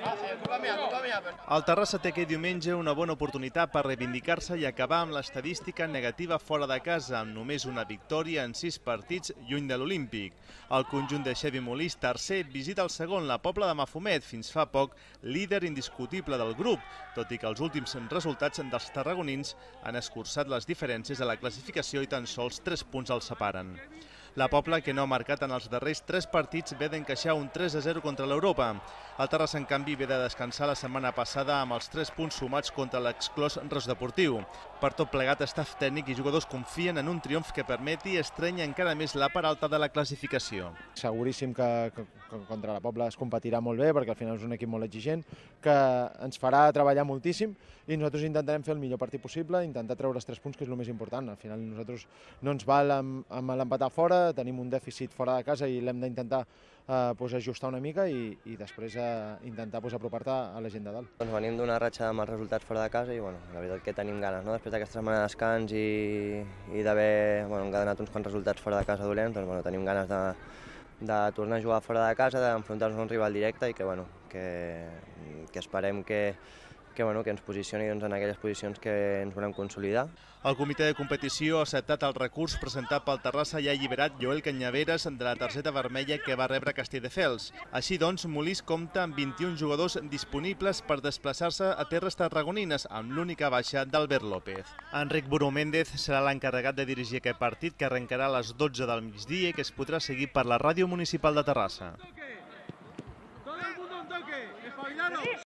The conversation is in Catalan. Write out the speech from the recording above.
El Terrassa té aquest diumenge una bona oportunitat per reivindicar-se i acabar amb l'estadística negativa fora de casa, amb només una victòria en 6 partits lluny de l'Olímpic. El conjunt de Xevi Molís, tercer, visita el segon, la Pobla de Mafumet, fins fa poc líder indiscutible del grup, tot i que els últims resultats dels tarragonins han escurçat les diferències a la classificació i tan sols 3 punts els separen. La Pobla, que no ha marcat en els darrers 3 partits, ve d'encaixar un 3-0 contra l'Europa. El Terrassa, en canvi, ve de descansar la setmana passada amb els 3 punts sumats contra l'exclòs Ros Deportiu. Per tot plegat, staff tècnic i jugadors confien en un triomf que permeti estrènyer encara més la part alta de la classificació. Seguríssim que contra la Pobla es competirà molt bé, perquè al final és un equip molt exigent, que ens farà treballar moltíssim i nosaltres intentarem fer el millor partit possible, intentar treure els 3 punts, que és el més important. Al final nosaltres no ens val amb l'empatar fora, tenim un dèficit fora de casa i l'hem d'intentar ajustar una mica i després intentar apropar-te a la gent de dalt. Venim d'una ratxa amb els resultats fora de casa i la veritat que tenim ganes. Després d'aquesta setmana de descans i d'haver encadenat uns quants resultats fora de casa dolents, tenim ganes de tornar a jugar fora de casa, d'enfrontar-nos a un rival directe i que esperem que ens posicioni en aquelles posicions que ens volem consolidar. El comitè de competició ha acceptat el recurs presentat pel Terrassa i ha alliberat Joel Canyaveres de la targeta vermella que va rebre Castelldefels. Així doncs, Molís compta amb 21 jugadors disponibles per desplaçar-se a terres tarragonines, amb l'única baixa d'Albert López. Enric Buró Méndez serà l'encarregat de dirigir aquest partit, que arrencarà a les 12 del migdia i que es podrà seguir per la ràdio municipal de Terrassa.